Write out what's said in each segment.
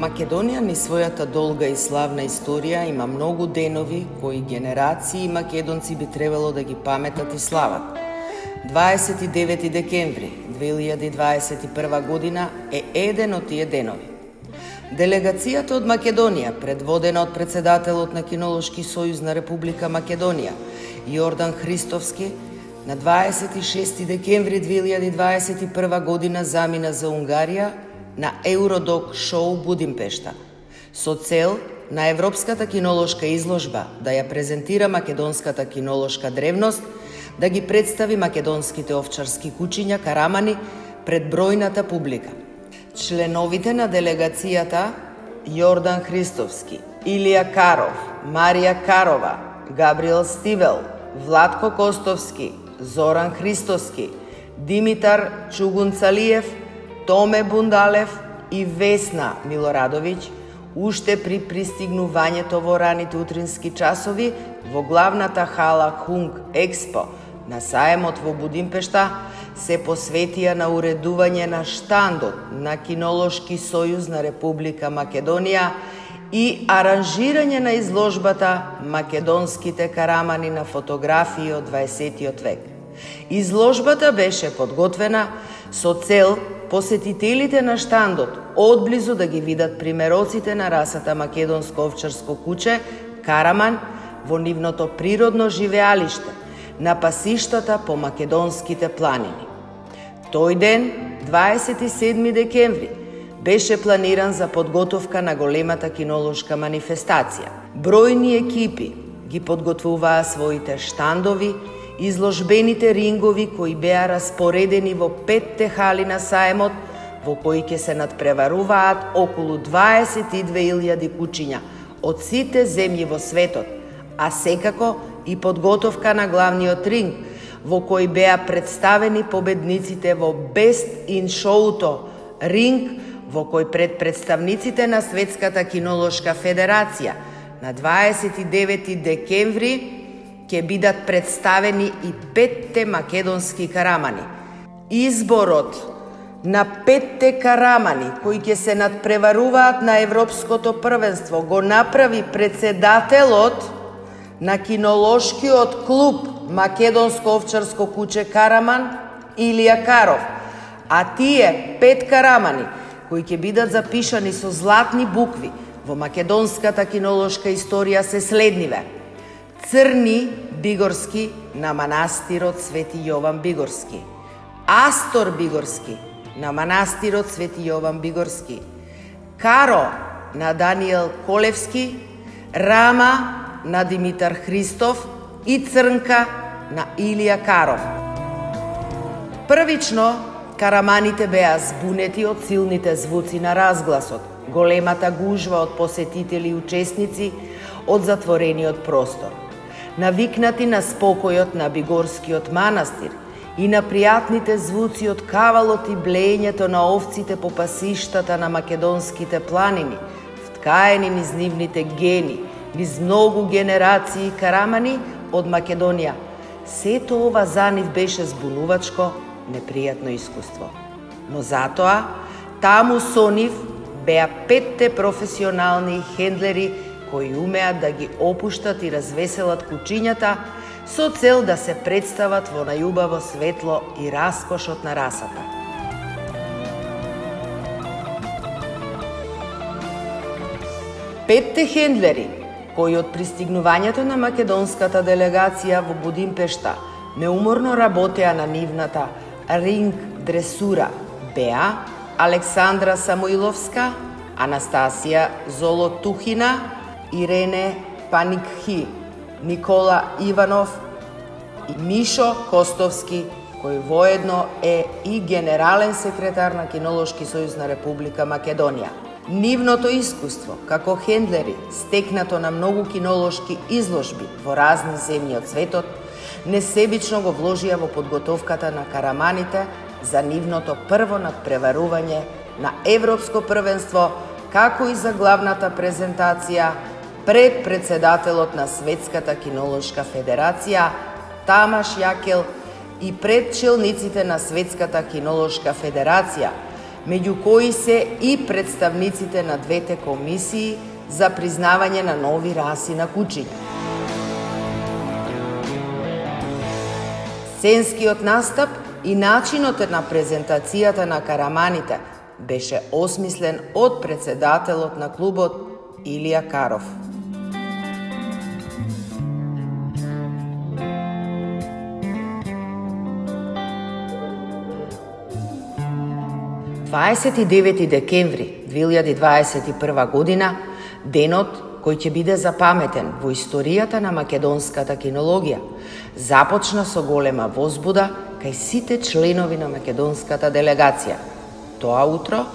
Македонија низ својата долга и славна историја има многу денови кои генерации македонци би требало да ги паметат и слават. 29 декември 2021 година е еден од тие денови. Делегацијата од Македонија, предводена од председателот на Кинолошки сојуз на Република Македонија, Јордан Христовски, на 26 декември 2021 година замина за Унгарија на Евродок шоу Будимпешта, со цел на Европската кинолошка изложба да ја презентира македонската кинолошка древност, да ги представи македонските овчарски кучиња карамани пред бројната публика. Членовите на делегацијата Јордан Христовски, Илија Каров, Марија Карова, Габриел Стивел, Владко Костовски, Зоран Христовски, Димитар Чугунцалиев, Томе Бундалев и Весна Милорадовиќ, уште при пристигнувањето во раните утрински часови во главната хала Хунг Експо на саемот во Будимпешта, се посветија на уредување на штандот на Кинолошки сојуз на Република Македонија и аранжирање на изложбата Македонските карамани на фотографии од 20 век. Изложбата беше подготвена со цел посетителите на штандот одблизу да ги видат примероците на расата македонско овчарско куче караман во нивното природно живеалиште, на пасиштата по македонските планини. Тој ден, 27 декември, беше планиран за подготовка на големата кинолошка манифестација. Бројни екипи ги подготвуваа своите штандови, изложбените рингови кои беа распоредени во 5 хали на саемот, во кои ќе се надпреваруваат околу 22.000 кучиња од сите земји во светот, а секако и подготовка на главниот ринг, во кој беа представени победниците во Best in Show-то, ринг во кој пред представниците на Светската кинолошка федерација на 29 декември ќе бидат представени и 5 македонски карамани. Изборот на 5 карамани кои ќе се надпреваруваат на Европското првенство го направи председателот на кинолошкиот клуб Македонско овчарско куче караман Илија Каров, а тие 5 карамани кои ќе бидат запишани со златни букви во македонската кинолошка историја се следниве: Црни Бигорски на манастирот Свети Јован Бигорски, Астор Бигорски на манастирот Свети Јован Бигорски, Каро на Даниел Колевски, Рама на Димитар Христов и Црнка на Илија Каров. Првично, караманите беа збунети од силните звуци на разгласот, големата гужва од посетители и учесници од затворениот простор. Навикнати на спокојот на Бигорскиот манастир и на пријатните звуци од кавалот и блеењето на овците по пасиштата на македонските планини, вткаени низ нивните гени, низ многу генерации карамани од Македонија, сето ова за нив беше збунувачко, непријатно искуство. Но затоа, таму со нив беа 5 професионални хендлери кои умеат да ги опуштат и развеселат кучињата со цел да се представат во најубаво светло и раскошот на расата. Петте хендлери кои од пристигнувањето на македонската делегација во Будимпешта неуморно работеа на нивната ринг дресура беа Александра Самоиловска, Анастасија Золотухина, Ирене Паникхи, Никола Иванов и Мишо Костовски, кој воедно е и генерален секретар на Кинолошки сојуз на Република Македонија. Нивното искуство како хендлери, стекнато на многу кинолошки изложби во разни земји од светот, несебично го вложија во подготовката на караманите за нивното прво надпреварување на Европско првенство, како и за главната презентација пред председателот на Светската кинолошка федерација Тамаш Јакел и пред челниците на Светската кинолошка федерација, меѓу кои се и представниците на двете комисии за признавање на нови раси на кучиња. Сценскиот настап и начинот на презентацијата на караманите беше осмислен од председателот на клубот Илија Каров. „29 декември 2021 година, денот кој ќе биде запаметен во историјата на македонската кинологија, започна со голема возбуда кај сите членови на македонската делегација. Тоа утро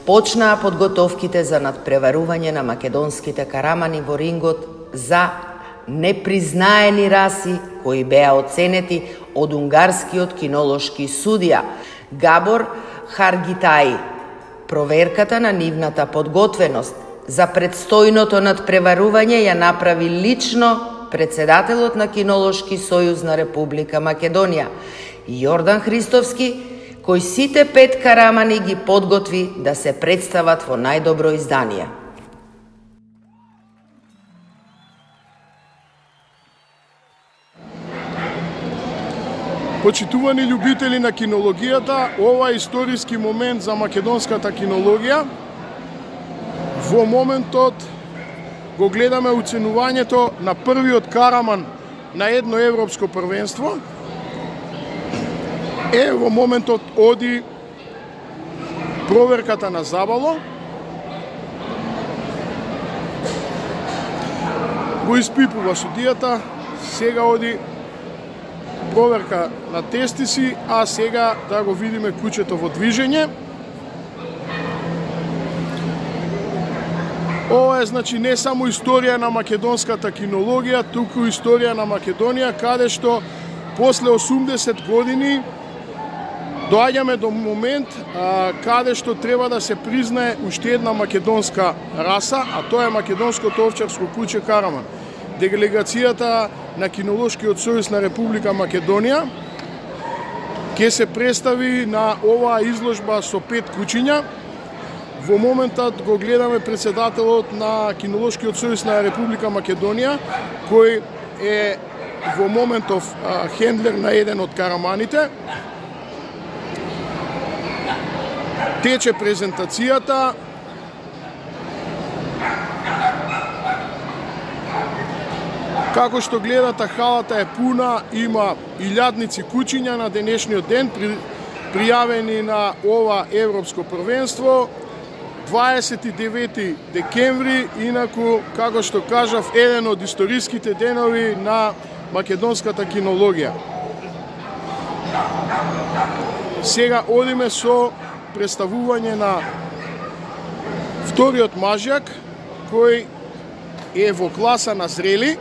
почнаа подготовките за надпреварување на македонските карамани во рингот за непризнаени раси кои беа оценети од унгарскиот кинолошки судија Габор Харгитаи. Проверката на нивната подготвеност за предстојното надпреварување ја направи лично председателот на Кинолошки сојуз на Република Македонија, Јордан Христовски, кој сите 5 карамани ги подготви да се представат во најдобро издание. Почитувани љубители на кинологијата, ова е историски момент за македонската кинологија. Во моментот го гледаме оценувањето на првиот караман на едно европско првенство. Во моментот оди проверката на Забало. Го испипува судијата, сега оди проверка на тестиси, а сега да го видиме кучето во движење. Ова е значи не само историја на македонската кинологија, туку историја на Македонија, каде што после 80 години доаѓаме до момент каде што треба да се признае уште една македонска раса, а тоа е македонското овчарско куче караман. Делегацијата на Кинолошкиот сојуз на Република Македонија ќе се представи на оваа изложба со 5 кучиња. Во моментот го гледаме председателот на Кинолошкиот сојуз на Република Македонија, кој е во моментов хендлер на еден од караманите. Тече презентацијата. Како што гледате, халата е пуна, има илјадници кучиња на денешниот ден, пријавени на ова европско првенство. 29 декември, инаку, како што кажав, еден од историските денови на македонската кинологија. Сега одиме со представување на вториот мажјак, кој е во класа на зрели.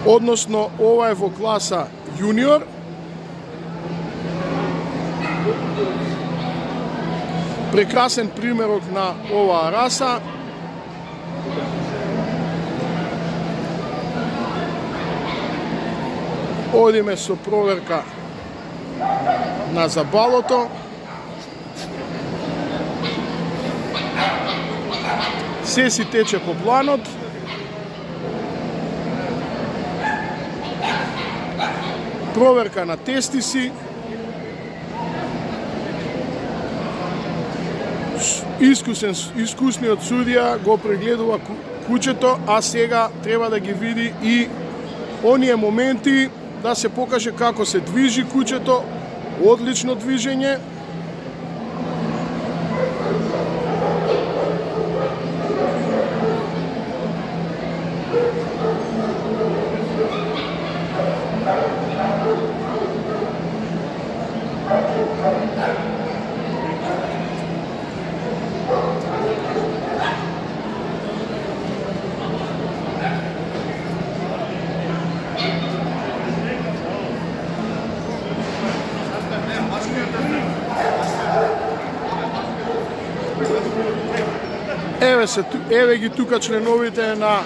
Односно, ова е во класа јуниор. Прекрасен примерок на оваа раса. Одиме со проверка на забалото. Се си тече по планот. Проверка на тестиси. Искусниот судија го прегледува кучето, а сега треба да ги види и оние моменти, да се покаже како се движи кучето, одлично движење. Еве ги тука членовите на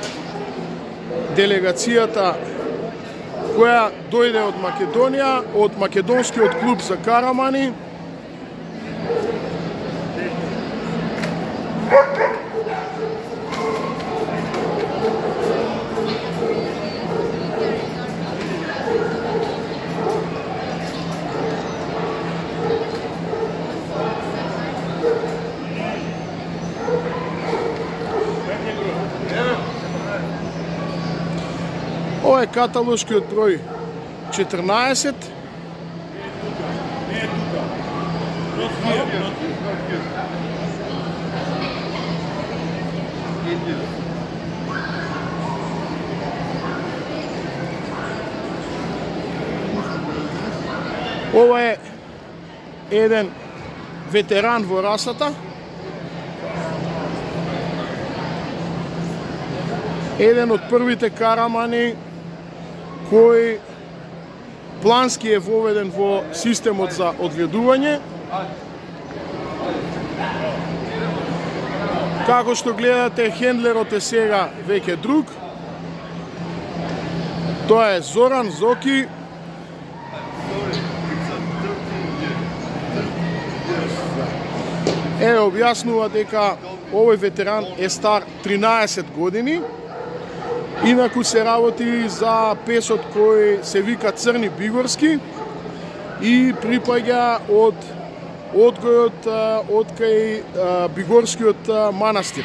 делегацијата која дојде од Македонија, од македонскиот клуб за карамани. Ова е каталошкиот број 14. Ова е еден ветеран во расата. Еден од првите карамани кој плански е воведен во системот за одгледување. Како што гледате, хендлерот е сега веќе друг. Тоа е Зоран Зоки. Објаснува дека овој ветеран е стар 13 години. Инаку се работи за песот кој се вика Црни Бигорски и припаѓа од одгојот од кај Бигорскиот манастир.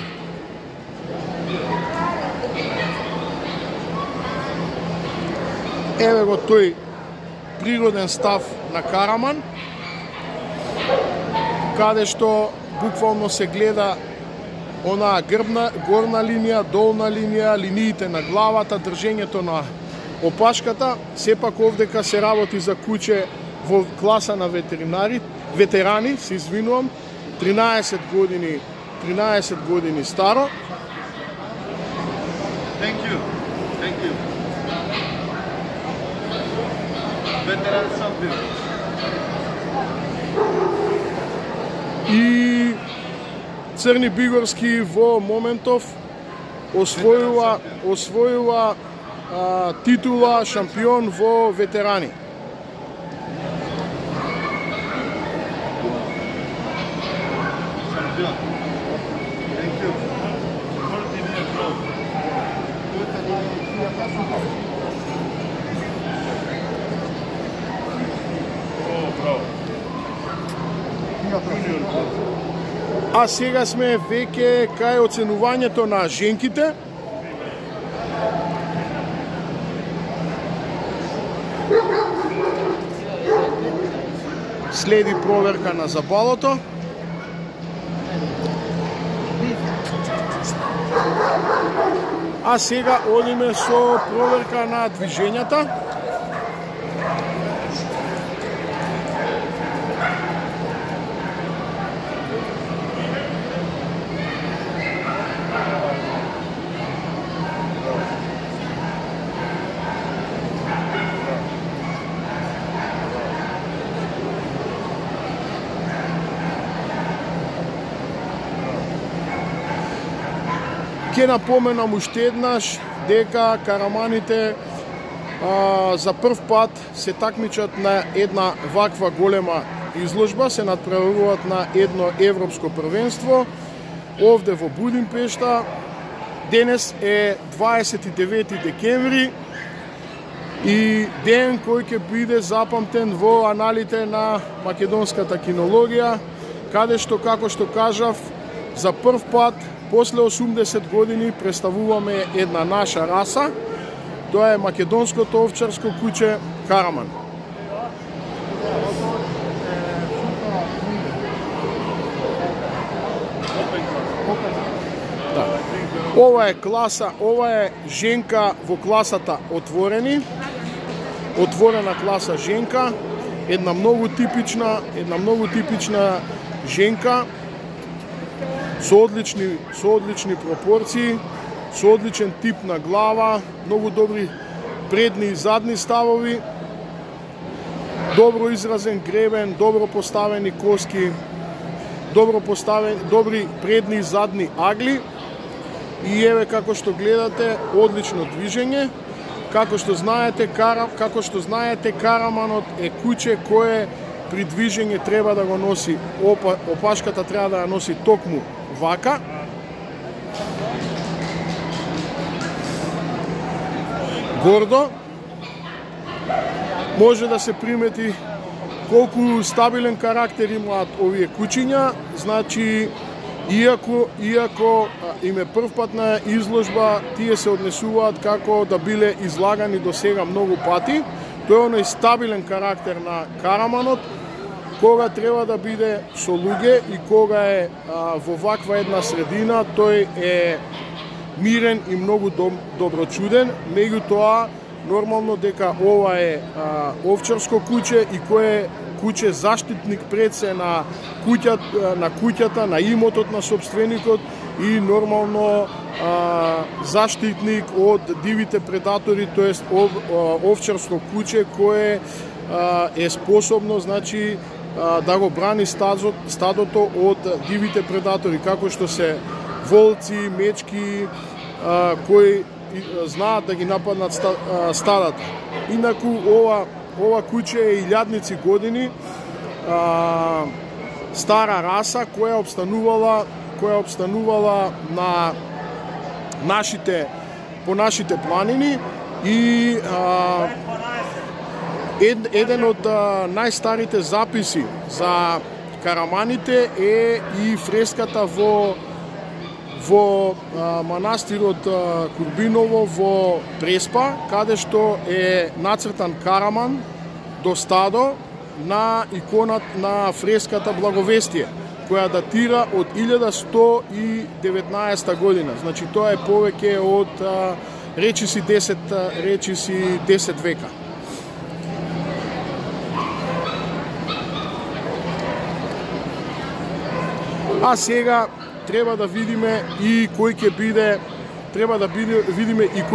Еве го тој природен став на караман, каде што буквално се гледа онаа горна линија, долна линија, линиите на главата, држењето на опашката. Сепак овдека се работи за куче во класа на ветерани, се извинувам, 13 години старо. Thank you. Veteran champion. И Црни Бигорски во моментов освојува титула шампион во ветерани. А сега сме веќе кај оценувањето на женките. Следи проверка на забалото. А сега одиме со проверка на движењата. Ќе напоменам уште еднаш дека караманите за прв пат се такмичат на една ваква голема изложба, се надправуваат на едно европско првенство овде во Будимпешта. Денес е 29 декември и ден кој ќе биде запамтен во аналите на македонската кинологија, каде што, како што кажав, за прв пат после 80 години представуваме една наша раса. Тоа е македонското овчарско куче караман. Да. Ова е класа, ова е женка во класата отворена класа женка, една многу типична женка со одлични пропорции, со одличен тип на глава, многу добри предни и задни ставови, добро изразен гребен, добро поставени коски, добри предни и задни агли. И еве како што гледате, одлично движење. Како што знаете, караманот е куќе кое при движење треба да го носи, опашката треба да ја носи токму вака. Гордо. Може да се примети колку стабилен карактер имаат овие куќиња, значи иако им е првпат на изложба, тие се однесуваат како да биле излагани до сега многу пати. Тој е оној стабилен карактер на караманот, кога треба да биде со луѓе и кога е во ваква една средина, тој е мирен и многу доброчуден. Меѓутоа, нормално дека ова е овчарско куќе и кое куќе заштитник пред се на куќата, на имотот на собственикот и нормално заштитник од дивите предатори, тоест овчарско куќе кое е способно, значи, да го брани стадото од дивите предатори, како што се волци, мечки, кои знаат да ги нападнат стадата. Инаку ова куќе е илјадници години, стара раса која обстанувала на по нашите планини и еден од најстарите записи за караманите е и фреската во манастирот Курбиново во Преспа, каде што е нацртан караман до стадо на иконат на фреската Благовестие, која датира од 1119 година. Значи тоа е повеќе од речиси 10 века. А сега треба да видиме и кој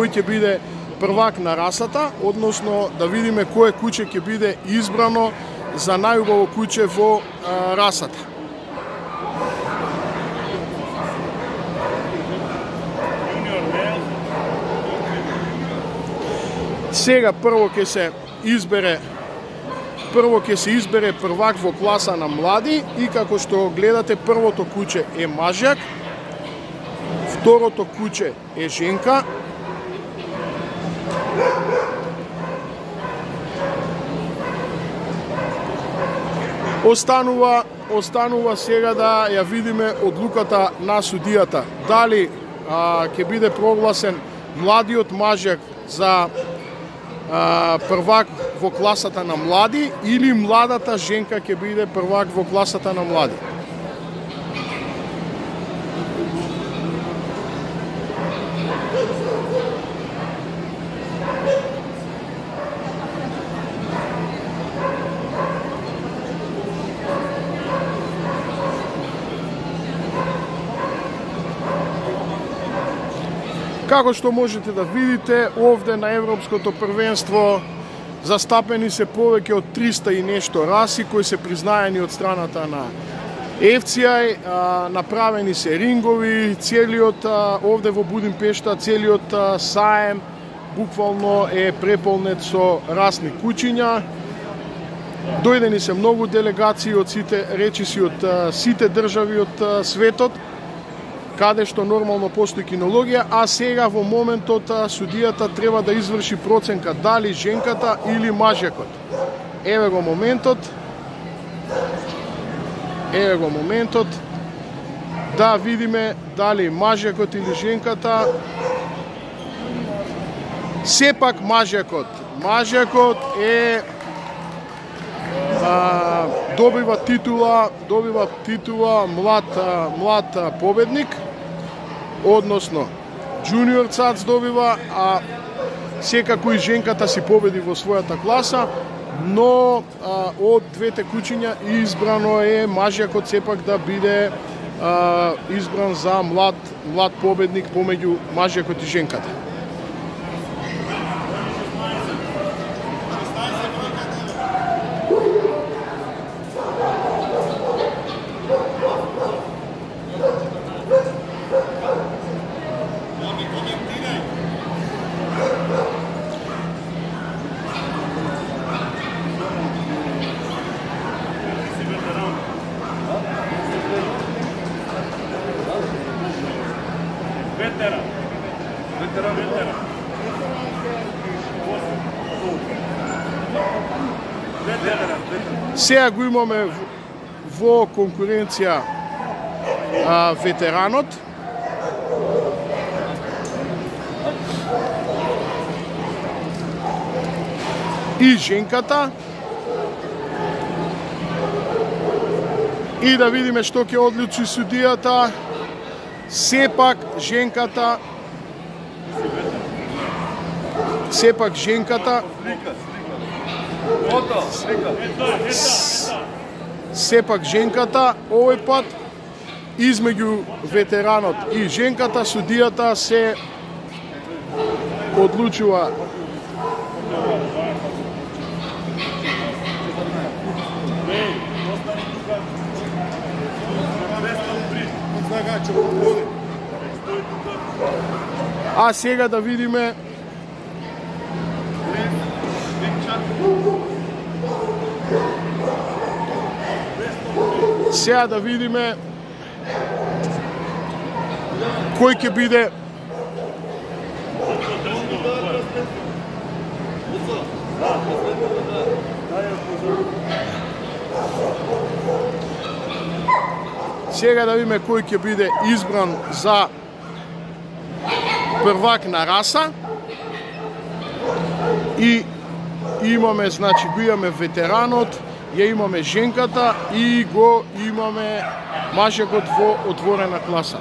ќе биде првак на расата, односно да видиме кое куќе ќе биде избрано за најубаво куќе во расата. Сега прво ќе се избере првак во класа на млади и како што гледате, првото куќе е мажјак, второто куќе е женка, останува сега да ја видиме одлуката на судијата. Дали ќе биде прогласен младиот мажјак за првак во класата на млади или младата женка ќе биде првак во класата на млади. Како што можете да видите, овде на Европското првенство застапени се повеќе од 300 и нешто раси кои се признаени од страната на FCI, направени се рингови, целиот овде во Будимпешта, целиот саем буквално е преполнет со расни куќиња. Дојдени се многу делегации од сите држави од светот, каде што нормално постои кинологија, а сега во моментот судијата треба да изврши проценка дали женката или мажјакот. Еве го моментот, да видиме дали мажјакот или женката. Сепак мажјакот. Мажјакот е добива титула млад победник, односно джуниор цац добива, а секако и женката си победи во својата класа, но од двете куќиња избрано е мажјакот сепак да биде избран за млад победник помеѓу мажјакот и женката. Сега го имаме во конкуренција ветеранот. И женката. И да видиме што ќе одлучи судијата. Сепак женката овој пат измеѓу ветеранот и женката судијата се одлучува А сега да видиме кој ќе биде избран за првак на раса. И имаме, значи, го имаме ветеранот, ја имаме женката и го имаме мажекот во отворена класа.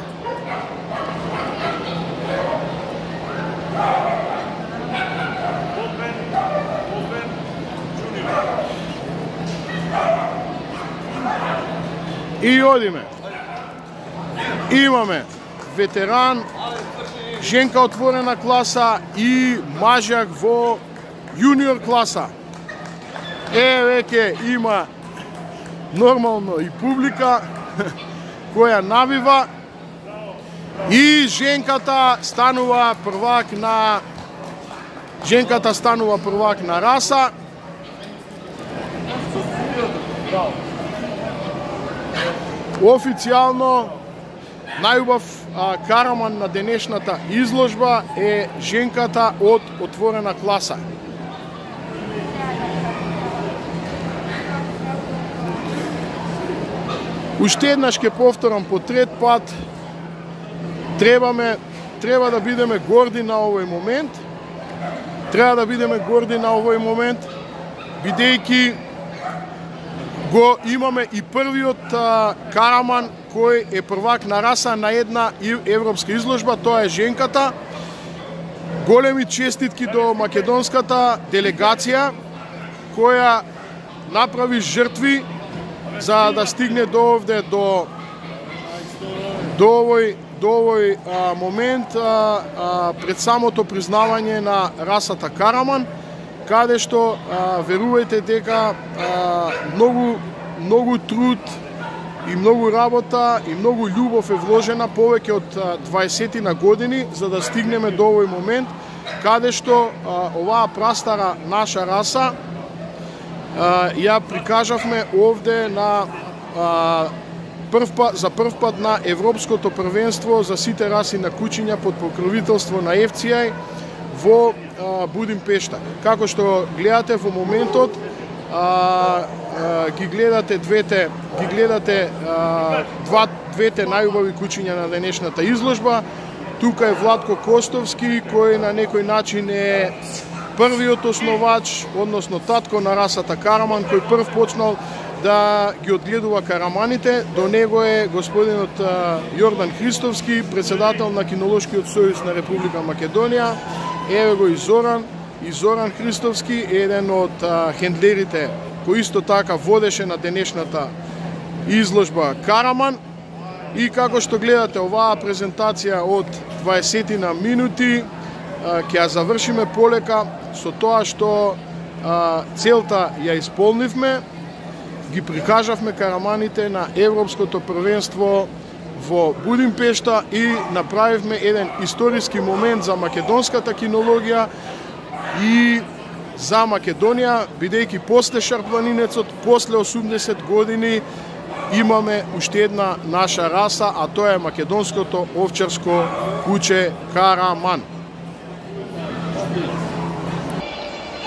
И одиме. Имаме ветеран, женка отворена класа и мажак во јуниор класа. Веќе има нормално и публика која навива и женката станува првак на раса. Официјално најубав караман на денешната изложба е женката од отворена класа. Уште еднаш ќе повторам по трет пат, треба да бидеме горди на овој момент. Бидејќи го имаме и првиот караман кој е првак на раса на една европска изложба, тоа е женката. Големи честитки до македонската делегација која направи жртви за да стигне до овде, до овој момент пред самото признавање на расата караман, каде што верувајте дека многу труд и многу работа и многу љубов е вложена повеќе од 20 на години за да стигнеме до овој момент каде што оваа прастара наша раса ја прикажавме овде на за прв пат на Европското првенство за сите раси на кучиња под покровителство на FCI во Будимпешта. Како што гледате во моментот, ги гледате двете најубави кучиња на денешната изложба. Тука е Владко Костовски, кој на некој начин е првиот основач, односно татко на расата караман, кој прв почнал да ги одгледува караманите. До него е господинот Јордан Христовски, председател на Кинолошкиот сојуз на Република Македонија. Еве го и Зоран Христовски, еден од хендлерите кој исто така водеше на денешната изложба караман. И како што гледате оваа презентација од 20 на минути, ќе ја завршиме полека со тоа што целта ја исполнивме. Ги прикажавме караманите на Европското првенство во Будимпешта и направивме еден историски момент за македонската кинологија и за Македонија, бидејќи после Шарпланинецот, после 80 години, имаме уште една наша раса, а тоа е македонското овчарско куче караман.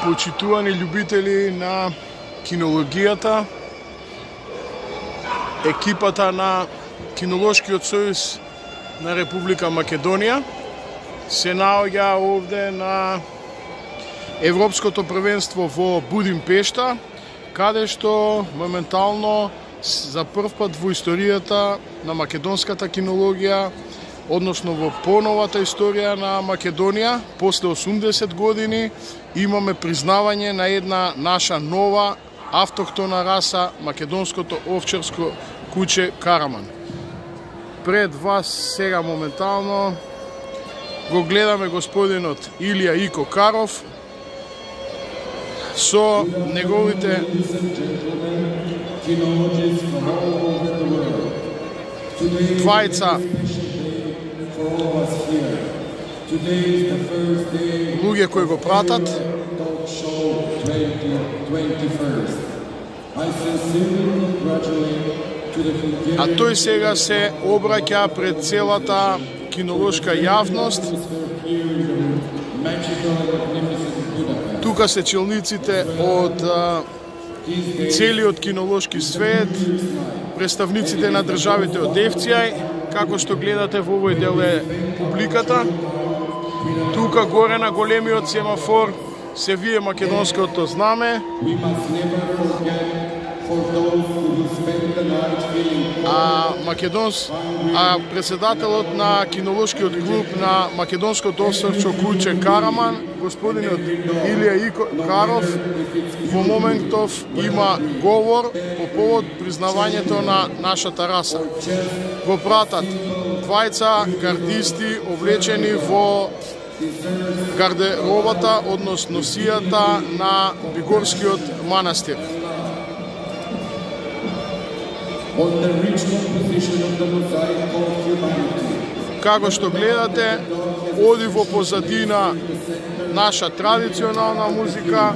Почитувани љубители на кинологијата, екипата на Кинолошкиот сојуз на Република Македонија се наоѓа овде на Европското првенство во Будимпешта, каде што моментално за прв пат во историјата на македонската кинологија, односно во поновата историја на Македонија, после 80 години, имаме признавање на една наша нова автохтона раса, македонското овчарско куче Караман. Пред вас сега моментално го гледаме господинот Илија Ико Каров со неговите двајца луѓе кои го пратат. А тој сега се обраќа пред целата кинолошка јавност. Тука се челниците од целиот кинолошки свет, представниците на државите од Евцијај, како што гледате во овој дел е публиката. Тука горе на големиот семафор се вие македонското знаме. А председателот на кинолошкиот клуб на македонското овчарско куче Караман, господинот Илија Ико Каров, во моментов има говор по повод признавањето на нашата раса. Го пратат двајца гардисти облечени во гардеробата, односно сијата на Бигорскиот манастир. Како што гледате, оди во позадина наша традиционална музика.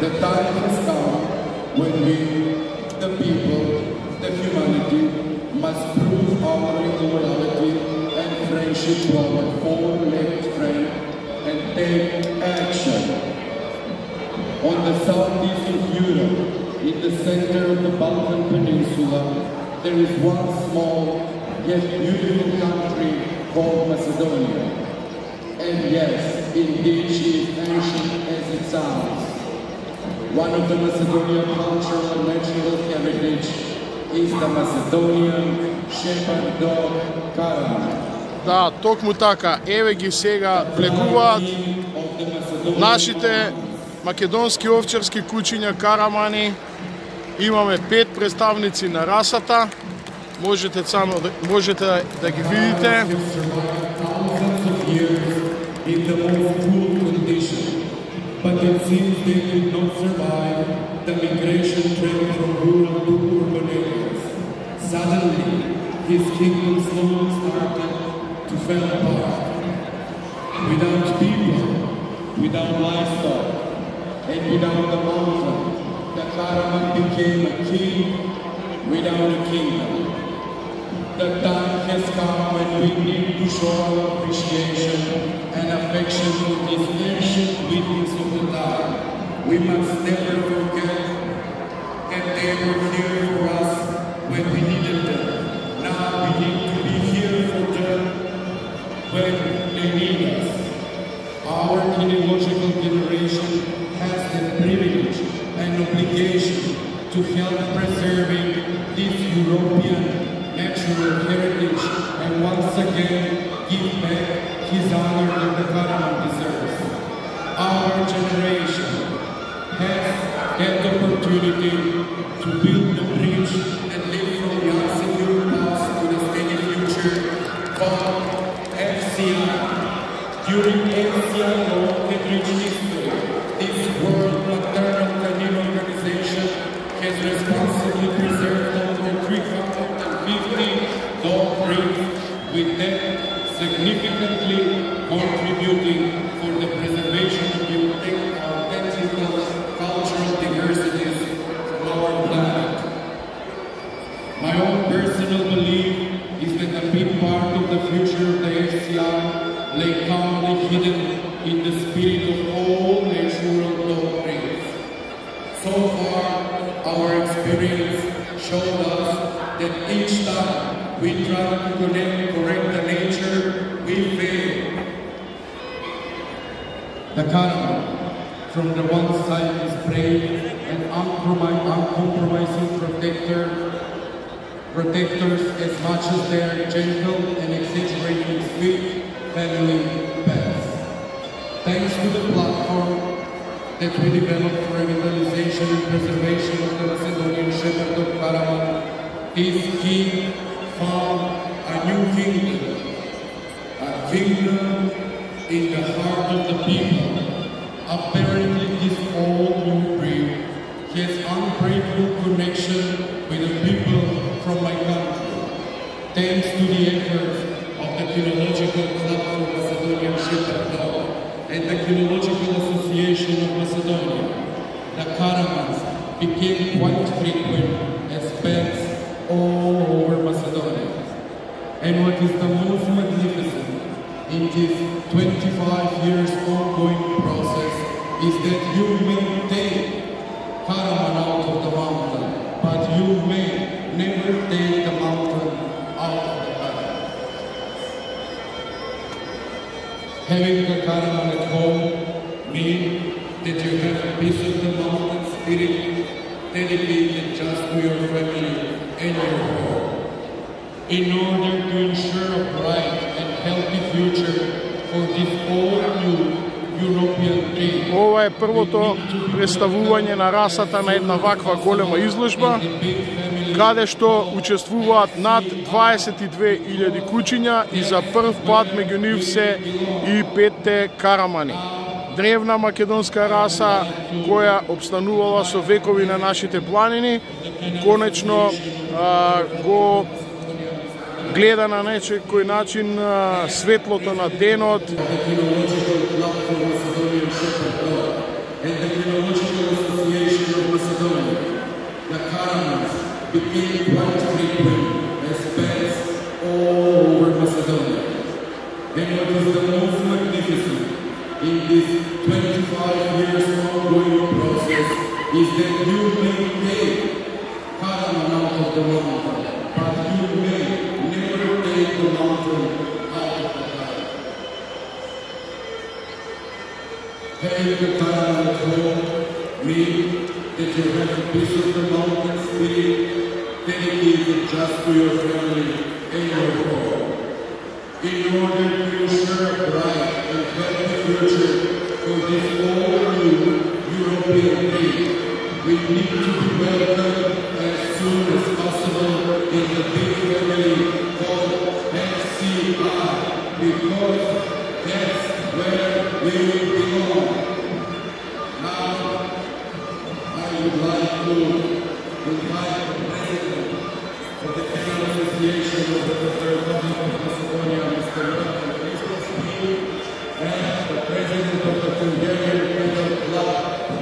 The time has come when we, the people, the humanity, must prove our loyalty and friendship to our four-legged friend and take action. On the southeast of Europe, in the center of the Balkan Peninsula, there is one small yet beautiful country called Macedonia. And yes, indeed she is ancient as it sounds. One of the Macedonian cultural and natural heritage is the Macedonian shepherd dog Karaman. Да, токму така, еве ги сега влегуваат нашите македонски овчарски кучиња Карамани. Имаме 5 представници на расата. Можете да ги видите. But it seems they could not survive the migration trend from rural to urban areas. Suddenly, his kingdom slowly started to fall apart. Without people, without livestock, and without the mountain, the Karaman became a king without a kingdom. The time has come when we need to show our appreciation and affection for this ancient witness of the time. We must never forget that they were here for us when we needed them. Now we need to be here for them when they need us. Our genealogical generation has the privilege and obligation to help preserving this European natural heritage and once again give back his honor that the Karaman deserves. Our generation has had the opportunity to build the bridge and live from the unsecure past to the steady future called FCI. During FCI long and rich history, this World Maternal Canine Organization has responsibly preserved over 350 dog breeds, with them significantly contributing for the preservation of the authentic cultural diversities from our planet. My own personal belief is that a big part of the lay calmly hidden in the spirit of all natural doctrines. So far, our experience showed us that each time we try to correct the nature, we fail. The Karma, from the one side, is brave and uncompromising protectors as much as they are gentle and exaggerating sweet family pets. Thanks to the platform that we developed for revitalization and preservation of the Macedonian shepherd of Karaman, this king found a new kingdom, a kingdom in the heart of the people. Apparently, this all new breed has unbreakable connection with the people from my country. Thanks to the efforts of the Philological Club for Macedonian Shepherd Dog and the Philological Association of Macedonia, the Karamans became quite frequent as pets all over Macedonia. And what is the most magnificent in this 25 years ongoing process is that you may take Karaman out of the mountain, but you may never take the mountain out of the Karaman. Having the Karaman at home means that you have a piece of the mountain spirit dedicated just to your family and your home. In order to ensure a bright and healthy future for this all new European breed. Ова е првото представување на расата на една ваква голема изложба, каде што учествуваат над 22.000 кучиња и за прв пат меѓу нив се и 5 карамани. Древна македонска раса која обстанувала со векови на нашите планини, конечно го гледа на некој начин светлото на денот. And the Philological Association of Macedonia, the Karamans became quite frequent as pets all over Macedonia. And what is the most magnificent in this 25 years ongoing process is that you may take Karaman out of the mountain, but you may never take the mountain out of the Karaman. Having the Karaman at home means that you have a piece of the mountain spirit dedicated just to your family and your home. In order to ensure a bright and healthy future for this all new European breed, we need to be welcomed as soon as possible in the big family called FCI, because that's where we belong. Now, I would like to invite the President of the Federal Association of the Republic of Macedonia, Mr. Rafal Christovski, and the President of the Hungarian Federal Club,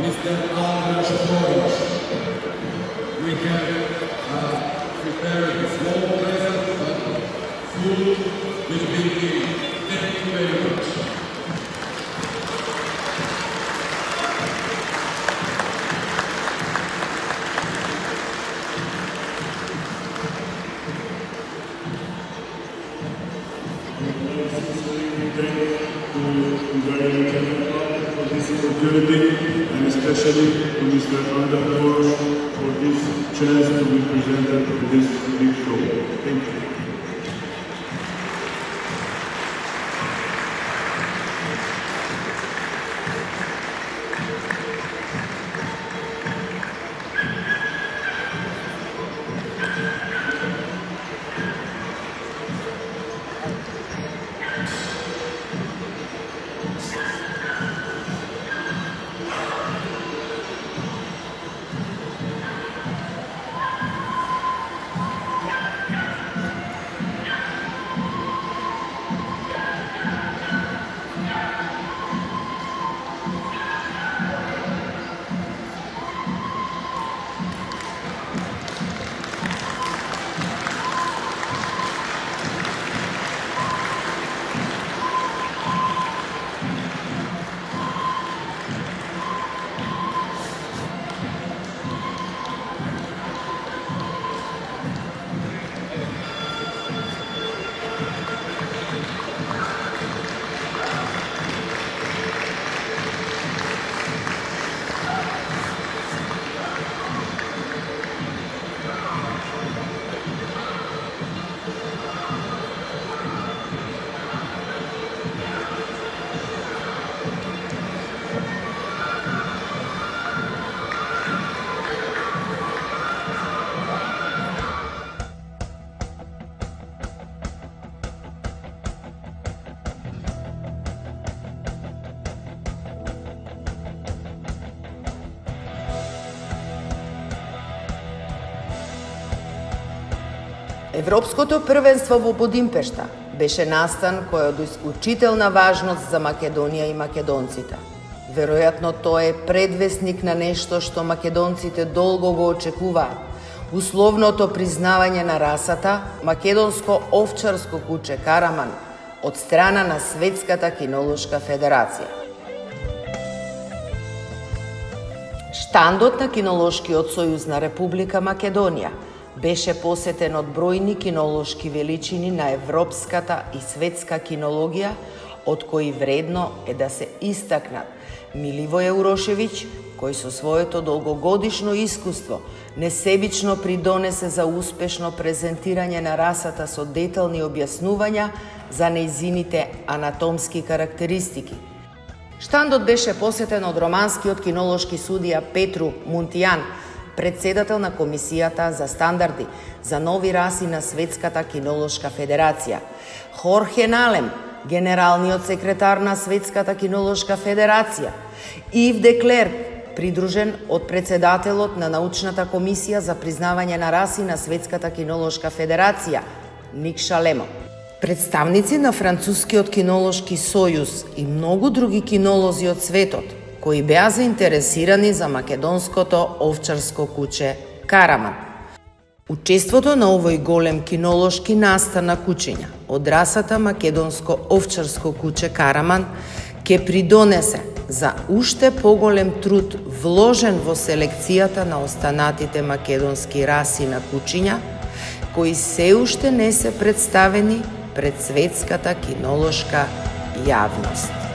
Mr. Andras Kovic. We have prepared a small present, but food will be given. Thank you very much. And especially to Mr. Andras Kovic for this chance to be presented to this big show. Thank you. Европското првенство во Будимпешта беше настан кој од исклучителна важност за Македонија и македонците. Веројатно тоа е предвесник на нешто што македонците долго го очекуваат. Условното признавање на расата Македонско овчарско куче Караман од страна на Светската кинолошка федерација. Штандот на Кинолошкиот сојуз на Република Македонија беше посетен од бројни кинолошки величини на европската и светска кинологија, од кои вредно е да се истакнат Миливој Урошевиќ, кој со своето долгогодишно искуство несебично придонесе за успешно презентирање на расата со детални објаснувања за нејзините анатомски карактеристики. Штандот беше посетен од романскиот кинолошки судија Петру Мунтијан, председател на Комисијата за стандарди за нови раси на Светската кинолошка федерација, Хорхе Налем, генералниот секретар на Светската кинолошка федерација, Ив де Клерк, придружен од председателот на научната комисија за признавање на раси на Светската кинолошка федерација, Ник Шалемо. Представници на Францускиот кинолошки сојуз и многу други кинолози од светот, кои беа заинтересирани за македонското овчарско куче Караман. Учеството на овој голем кинолошки настан на кучиња од расата македонско овчарско куче Караман ќе придонесе за уште поголем труд вложен во селекцијата на останатите македонски раси на кучиња, кои се уште не се представени пред светската кинолошка јавност.